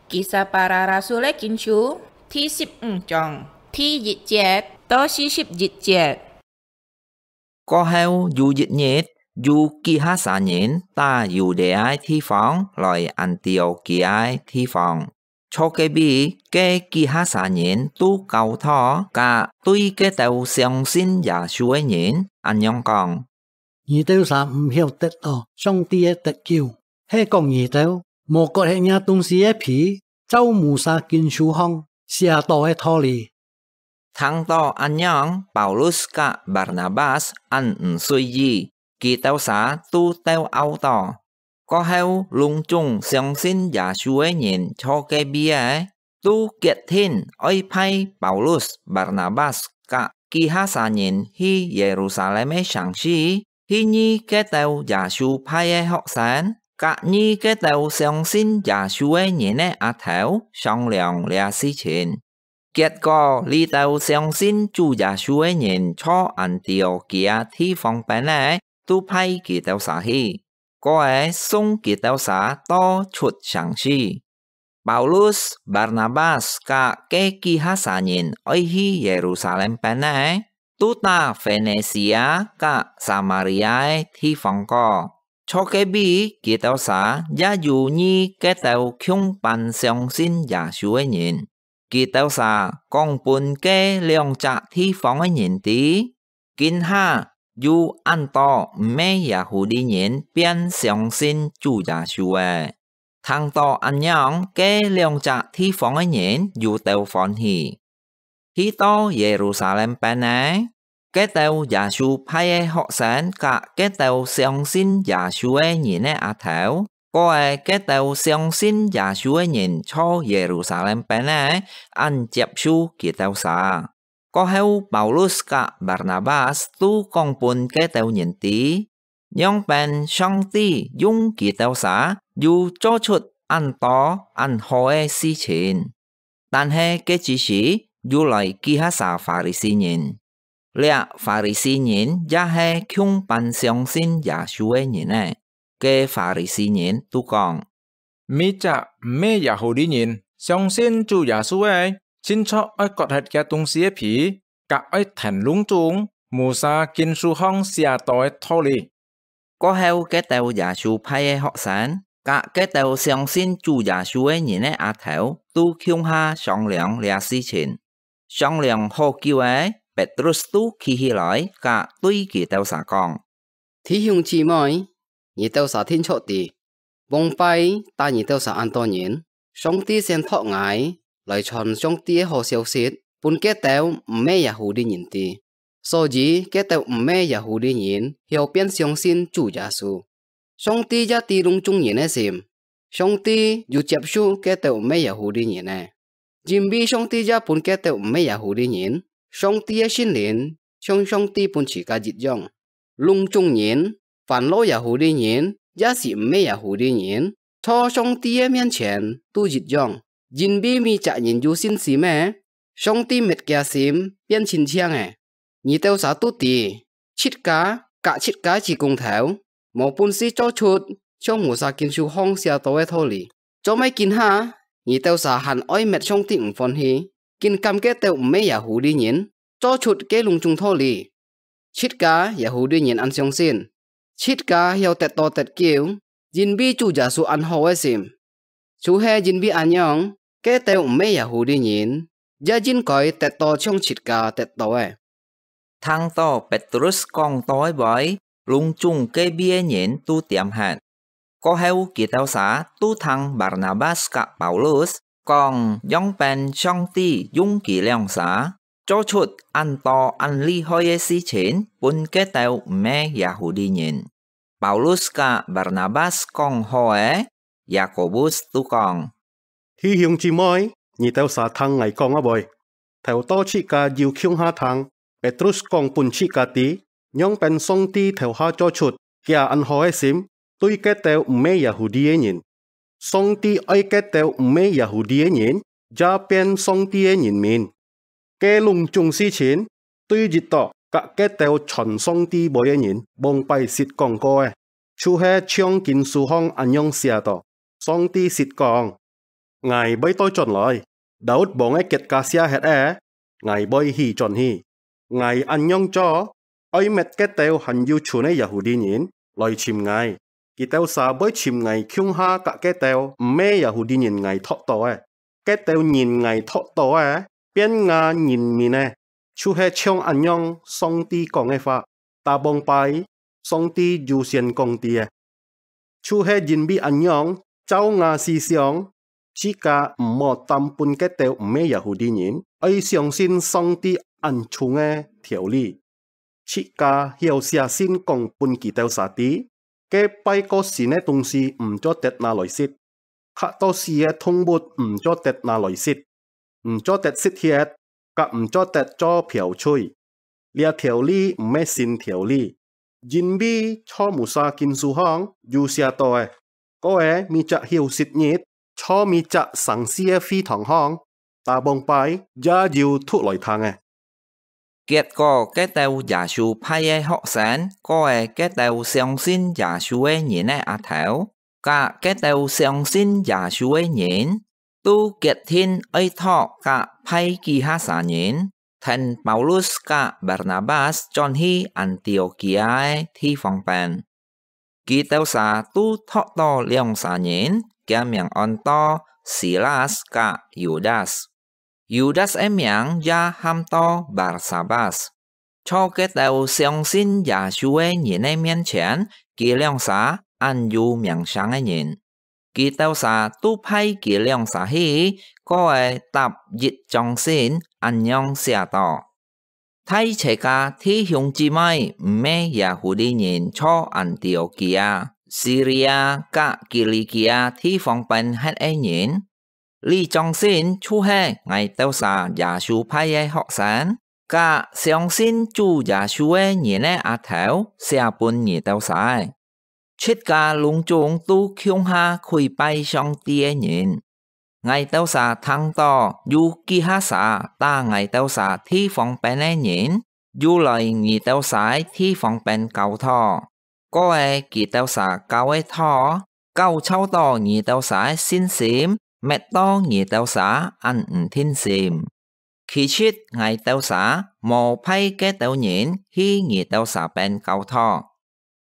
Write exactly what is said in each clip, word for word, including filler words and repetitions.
Kisah Para Rasul-é Kinsú第十五章第一節到四十一節。過後有一日，有幾下儕人打Yudea个地方來Antiôkia个地方。坐該位个幾下儕人都教導佮對該兜相信耶穌个人恁樣講：你兜儕毋曉得著上帝个得救，係講你兜無割忒若東西个皮，照Musa Kinsú項寫著个道理。聽著恁樣，Paulus佮Barnabas恁毋隨意，佢兜儕都鬥毆著。過後，攏總相信耶穌个人坐該位个，都決定愛派Paulus、Barnabas佮幾下儕人去Yerusalem个城市，去你該兜耶穌派个學生，佮你該兜相信耶穌个人个阿頭商量這事情。結果，這兜相信主耶穌个人坐Antiôkia地方邊个，都派佢兜儕去，過後送佢兜儕到出城市。Paulus、Barnabas佮該幾下儕人愛去Yerusalem邊个，都打Fenisia佮Samaria个地方過。坐該位，佢兜儕也有你該兜共般相信耶穌个人。佢兜儕講分該兩隻地方个人知，今下有恁多毋係Yahudi人變相信主耶穌个。聽著恁樣，該兩隻地方个人又鬥歡喜。去到Yerusalem邊个，該兜耶穌派个學生佮該兜相信耶穌个人个阿頭，過後該兜相信耶穌个人坐Yerusalem邊个，恁接受佢兜儕。過後，Paulus佮Barnabas都講分該兜人知，仰般上帝用佢兜儕又做出恁多恁好个事情。但係該之時，又來幾下儕法利賽人。這法利賽人也係共般相信耶穌个人呢。該法利賽人都講： 每隻毋係Yahudi人相信主耶穌个，盡著愛割忒厥東西个皮，佮愛跈攏總Musa Kinsú項寫著个道理。過後，該兜耶穌派个學生，佮該兜相信主耶穌个人个阿頭，都共下商量這事情。商量好久仔，Petrus都企起來，佮對佢兜儕講： 弟兄姊妹，你兜儕定著知，往擺打你兜儕恁多人，上帝選擇𠊎來傳上帝个好消息，分該兜毋係Yahudi人知。所以，該兜毋係Yahudi人曉變相信主耶穌。上帝也知攏總人个心，上帝又接受該兜毋係Yahudi人个。 因為上帝也分該兜毋係Yahudi人，上帝个聖靈像上帝分自家一樣。攏總人，凡係Yahudi人，也係毋係Yahudi人，在上帝个面前都一樣，因為每隻人有信心个，上帝搣厥心變親像个。 你兜儕都知，自家佮自家支公頭，無本事做出像Musa Kinsú項寫著个道理。做麼今下，你兜儕還愛搣上帝毋歡喜，竟感該兜毋係Yahudi人做出个攏總道理？自家Yahudi人恁相信，自家曉得著得救，因為主耶穌恁好个心。 就係因為恁樣，該兜毋係Yahudi人，也應該得著像自家得著个。聽著Petrus講到个話，攏總該位个人都恬忒。過後，佢兜儕都聽Barnabas佮Paulus講，仰般上帝用佢兩儕，做出恁多恁厲害个事情，分該兜毋係Yahudi人。 Paulus佮Barnabas講好个，Yakobus都講：弟兄姊妹，你兜儕聽𠊎講啊會？頭到自家有共下聽，Petrus講分自家知，仰般上帝頭下做出厥恁好个心，對該兜毋係Yahudi个人。上帝愛該兜毋係Yahudi个人，也變上帝个人民。 該攏總事情，對一到佮該兜傳上帝話个人，往擺識講過个，就係像經書項恁樣寫著：上帝識講： ：𠊎會倒轉來，Daud-王个結架寫忒咧，𠊎會起轉去。𠊎恁樣做，愛搣該兜還有賰个Yahudi人來尋𠊎，佢兜儕會尋𠊎共下佮該兜毋係Yahudi人𠊎擇到个。該兜人𠊎擇到个，變吾人民个，就係像恁樣上帝講个話。打幫拜，上帝有先講知个。就係因為恁樣，照吾思想，自家毋好擔分該兜毋係Yahudi人，愛相信上帝恁重个條理。自家曉寫信講分佢兜儕知，該拜過神个東西毋做得拿來食， 刻到死个動物毋做得拿來食，毋做得食血，佮毋做得做嫖妓。這條例毋係新條例，因為在Musa經書項有寫到个，過个每隻休息日，在每隻城市个會堂項，打幫拜也有讀來聽个。 結果該兜耶穌派个學生，過个該兜相信耶穌个人个額頭，佮該兜相信耶穌个人，都決定愛擇佮派幾下儕人，跈Paulus佮Barnabas轉去Antiokia个地方邊。 佢兜儕都擇到兩儕人，厥名安到Silas佮Yudas。Yudas个名也喊到Barsabas。在該兜相信耶穌个人个面前，佢兩儕恁有名聲个人。佢兜儕都派佢兩儕去，過个搭一張信，恁樣寫到： 大齊家弟兄姊妹，毋係Yahudi人在Antiokia、Siria佮Kilikia地方邊歇个人，這張信就係𠊎兜儕耶穌派个學生，佮相信主耶穌个人个額頭寫分你兜儕个。 自家攏總都共下跪拜上帝个人。𠊎兜儕聽到有幾下儕打𠊎兜儕地方邊个人，又來你兜儕个地方邊教導。過个佢兜儕教个道，教臭到你兜儕个信心，搣到你兜儕恁毋定心。 其實𠊎兜儕無派該兜人去你兜儕邊教導，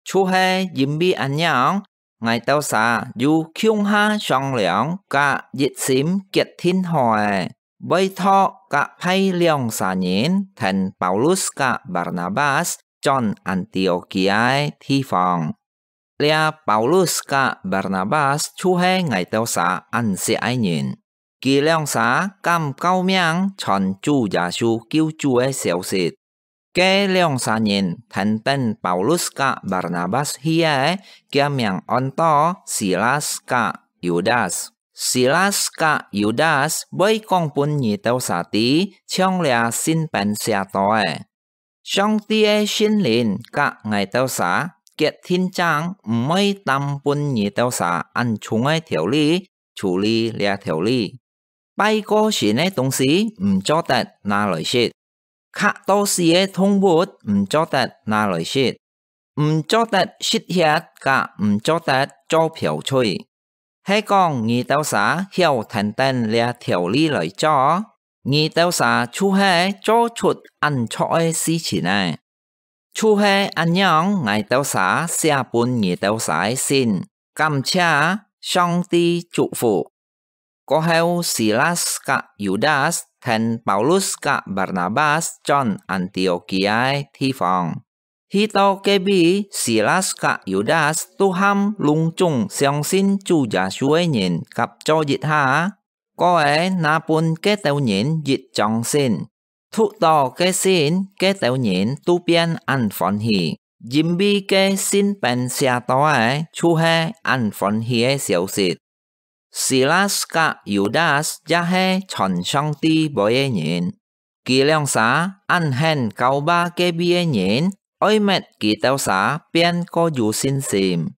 就係因為恁樣，𠊎兜儕有共下商量佮一心決定好个，會擇佮派兩儕人跈Paulus佮Barnabas轉Antiokia个地方。 這Paulus佮Barnabas就係𠊎兜儕恁惜个人。佢兩儕敢救命傳主耶穌救主个消息。該兩儕人跈等Paulus佮Barnabas去个，厥名安到Silas佮Yudas。Silas佮Yudas會講分你兜儕知，像這信邊寫到个。 上帝个聖靈佮𠊎兜儕決定正毋會擔分你兜儕恁重个條例，處理這條例。拜過神个東西毋做得拿來食，刻到死个動物毋做得拿來食，毋做得食血佮毋做得做嫖妓。 係講你兜儕曉跈等這條例來做，你兜儕就係做出恁著个事情呢。就係恁樣，𠊎兜儕寫分你兜儕个信，感謝，上帝祝福。過後，Silas佮Yudas跈Paulus佮Barnabas轉Antiokia个地方。 去到該位，Silas佮Yudas都喊攏總相信主耶穌个人合做一下，過个拿分該兜人一張信。讀到該信，該兜人都變恁歡喜，因為該信邊寫到个就係恁歡喜个消息。 Silas佮Yudas也係傳上帝話个人，佢兩儕恁肯教化該位个人，愛搣佢兜儕變過有信心。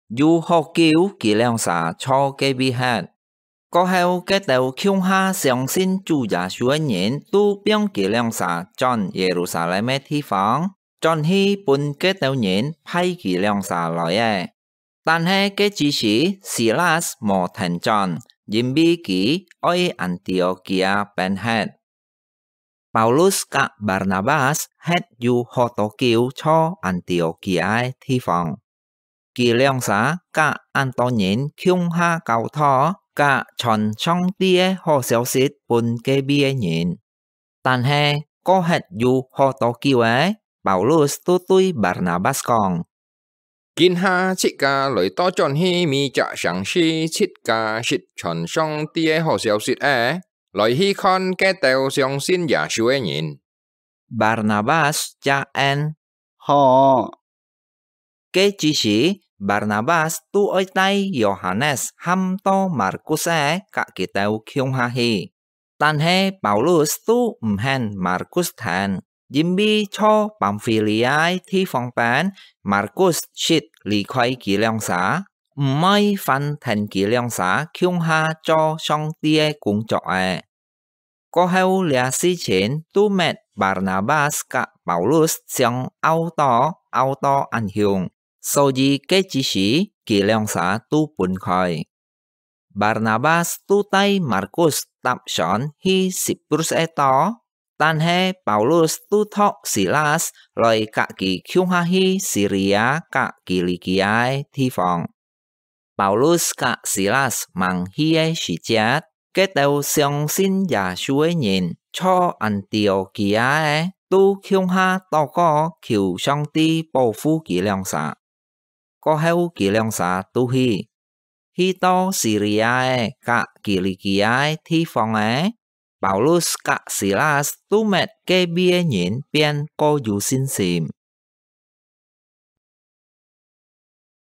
有好久佢兩儕在該位歇。過後，該兜共下相信主耶穌个人都放佢兩儕轉耶路撒冷个地方，轉去分該兜人派佢兩儕來个。 但係該之時，Silas無跈轉，因為佢愛Anti-ô-kia pên-he̍t. Paulus ka Barnabas he̍t有好多久在Anti-ô-kia地方。佢兩儕ka恁多人共下教導，ka傳上帝个好消息分該位个人。但係過忒有好多久仔，Paulus都對Barnabas講：「今下自家來倒轉去每隻城市自家識傳上帝个好消息仔，來去看該兜相信耶穌个人。」Barnabas就應：「好。」該之時，Barnabas都愛帶Yohanes喊到Markus仔佮佢兜共下去。但係Paulus都毋肯Markus跈，因為在Pamfilia地方邊，Markus識離開佢兩儕，毋會還跈佢兩儕共下做上帝个工作仔。過後這事情都搣Barnabas佮Paulus相拗著，拗到恁兇，所以該之時佢兩儕都分開。Barnabas都帶Markus搭船去Siprus个島，但係Paulus都託Silas來佮佢共下去Siria佮Kilikia个地方。Paulus佮Silas吂去个時節，該兜相信耶穌个人在Anti-ô-kia个都共下禱告求上帝保護佢兩儕。過後佢兩儕都去，去到Siria个佮Kilikia个地方仔，Paulus佮Silas都搣該位个人變過有信心。